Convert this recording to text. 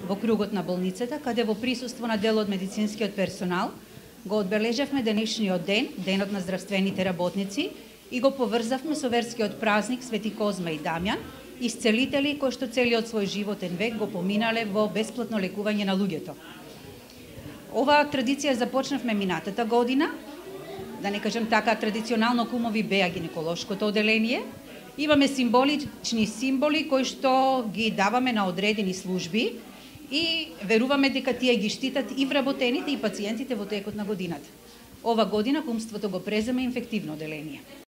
во кругот на болницата, каде во присуство на дел од медицинскиот персонал го одбележавме денешниот ден, денот на здравствените работници, и го поврзавме со верскиот празник Свети Козма и Дамјан, исцелители кои што целиот свој животен век го поминале во бесплатно лекување на луѓето. Оваа традиција започнавме минатата година, да не кажем така, традиционално кумови беа гинеколошкото оделение. Имаме символични символи кои што ги даваме на одредени служби и веруваме дека тие ги штитат и вработените и пациентите во текот на годината. Ова година кумството го презема инфективно оделение.